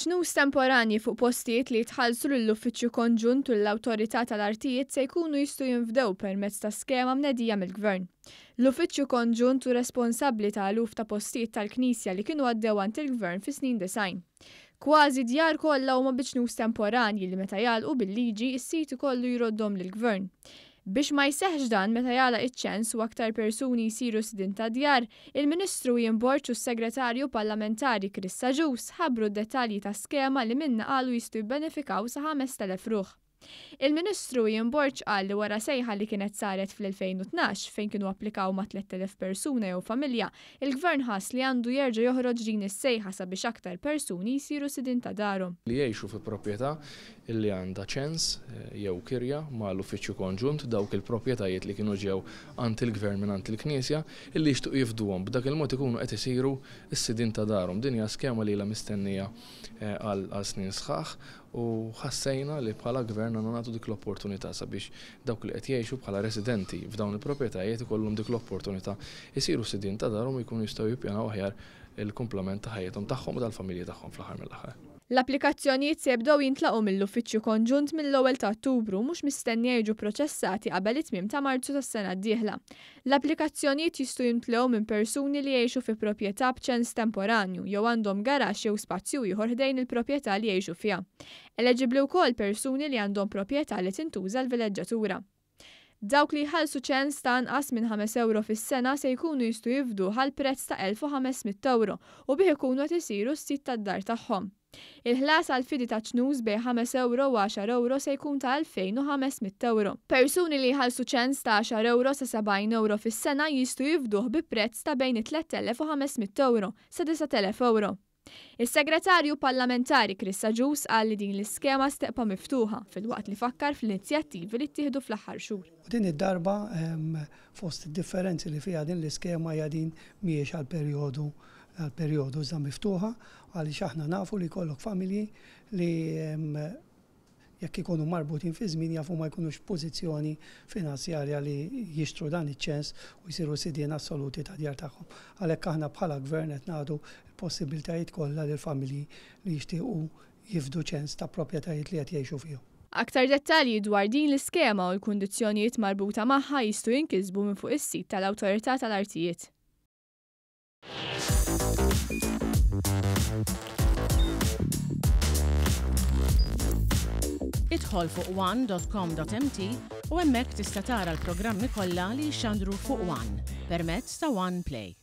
Ċnus temporanji fuq postijiet li jitħallsu lill-Uffiċċju Konġunt u lill-Awtorità tal-Artijiet se jkunu jistgħu jinfdew permezz ta' skema mnedija mill-Gvern. L-Uffiċċju Konġunt hu responsabbli ta' eluf ta' postijiet tal-Knisja li kienu għaddew għand il-Gvern fis-snin 90. Kważi d-djar kollha huma bi ċnus temporanji li meta jagħlqu bil-liġi s-sid ikollu jroddhom lill-Gvern. Biex ma jseħħx dan meta jagħlaq iċ-ċens u aktar persuni jsiru sidien ta' djar, il-Ministru Ian Borg u s-Segretarju Parlamentari Chris Agius ħabbru d-dettalji ta' skema li minnha qalu jistgħu jibbenefikaw sa 5,000 ruħ. Il-Ministru Ian Borg qal li wara sejħa li kienet saret fl-2012 fejn kienu applikaw ma' 3,000 persuna jew familja, il-Gvern ħass li għandu jerġa' joħroġ din is-sejħa sabiex aktar persuni jsiru sidien ta' darhom. Li jgħixu fi proprjetà li għandha ċens jew kirja mal-Uffiċċju Konġunt, dawk il-proprjetajiet li kienu ġew għand il-Gvern mingħand il-Knisja, illi jixtiequ jifduhom. B'dak il-mod ikunu qed isiru s-sidien ta' darhom. Din hija skema li ilha mistennija għal snin sħaħ u ħassejna li bħala Gvern għandna nagħtu dik l-opportunità sabiex dawk li qed jgħixu bħala residenti f'dawn il-proprjetajiet ikollhom dik l-opportunità jsiru sidien ta' darhom u jkunu jistgħu jippjanaw aħjar il-kumplament ta' ħajjithom tagħhom u tal-familji tagħhom fl-aħħar mill-aħħar. L-applikazzjonijiet se jibdew jintlaqgħu mill-Uffiċċju Konġunt mill-ewwel ta' Ottubru u mhux mistennija jiġu pproċessati qabel it-tmiem ta' Marzu tas-sena d-dieħla. L-applikazzjonijiet jistgħu jimtlew minn persuni li jgħixu fi proprjetà b'ċens temporanju jew għandhom garaxx jew spazju ieħor ħdejn il-proprjetà li jgħixu fiha. Eleġibbli wkoll persuni li għandhom proprjetà li tintuża l-vileġġatura. Dawk li jħallsu ċens ta' anqas minn ħames ewro fis-sena se jkunu jistgħu jifduh għal prezz ta' 1,500 ewro u bih ikunu qed isiru s-sid tad-dar tagħhom. Il-ħlas għall-fidi ta' ċnus bejn ħames ewro u għaxar ewro se jkun ta' 2,500 ewro. Persuni li jħallsu ċens ta' għaxar ewro sa 70 ewro fis-sena jistgħu jifduh bi prezz ta' bejn it-3,500 ewro sa 9,000 ewro. Is-Segretarju Parlamentari Chris Agius qal li din l-iskema se tibqa' miftuħa, filwaqt li fakkar fl-inizjattivi li ttieħdu fl-aħħar xhur. U din id-darba fost id-differenzi li fiha din l-iskema hija din mhijiex għal perjodu għal perjodu iżda miftuħa għaliex aħna nafu li jkollok familji li jekk ikunu marbutin fi żmien jafu ma jkunux f'pożizzjoni finanzjarja li jixtru dan iċ-ċens u jsiru sidien assoluti tad-djar tagħhom. Għalhekk aħna bħala Gvern qed nagħtu l-possibbiltajiet kollha lill-familji li jixtiequ jifdu ċens ta' proprjetajiet li qed jgħixu fihom. Aktar dettalji dwar din l-iskema u l-kundizzjonijiet marbuta magħha jistgħu jinkisbu minn fuq is-sit tal-Awtorità tal-Artijiet. Idħol fuq one.com.mt u hemmhekk tista' tara l-programmi kollha li jixxandru fuq One permezz ta' One Play.